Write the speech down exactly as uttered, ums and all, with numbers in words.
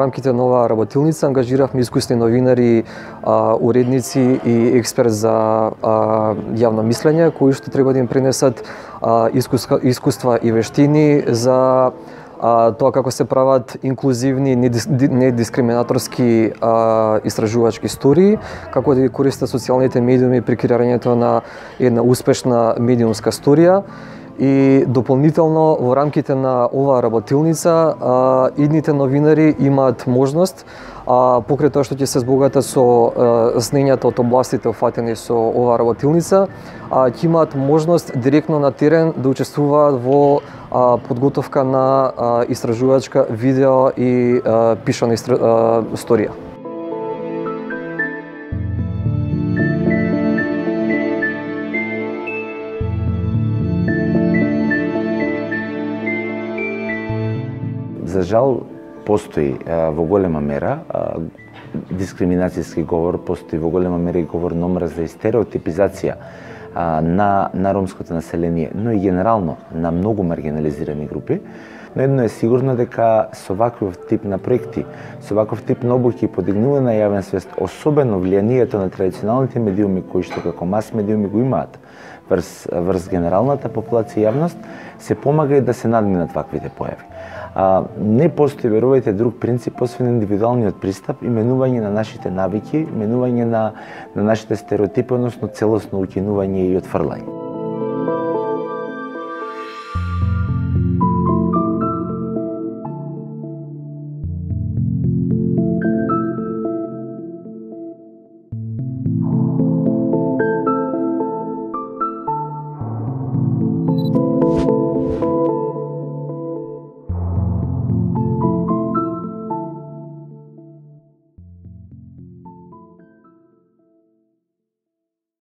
рамките на оваа работилница ангажиравме искусни новинари, уредници и експерт за јавно мислење, кои што треба да им пренесат искуства и вештини за тоа како се прават инклузивни, недискриминаторски истражувачки студии, како да ги користат социјалните медиуми при креирањето на една успешна медиумска студија. И дополнително во рамките на оваа работилница идните новинари имаат можност, покрај тоа што ќе се збогатат со знаењата од областите офатени со оваа работилница, ќе имаат можност директно на терен да учествуваат во подготовка на истражувачка видео и пишана сторија. За жал, постои во голема мера дискриминацијски говор, постои во голема мера и говор на омраза и стереотипизација на, на ромското население, но и генерално на многу маргинализирани групи. Но едно е сигурно дека со ваков тип на проекти, со ваков тип на обуки и подигнување на јавен свест, особено влијанието на традиционалните медиуми кои што како мас медиуми го имаат врз, врз генералната популација и јавност, се помага и да се надминат ваквите појави. А, не постои, верувајте, друг принцип освен индивидуалниот пристап, именување на нашите навики, именување на, на нашите стереотипи, односно целосно укинување и отфрлање.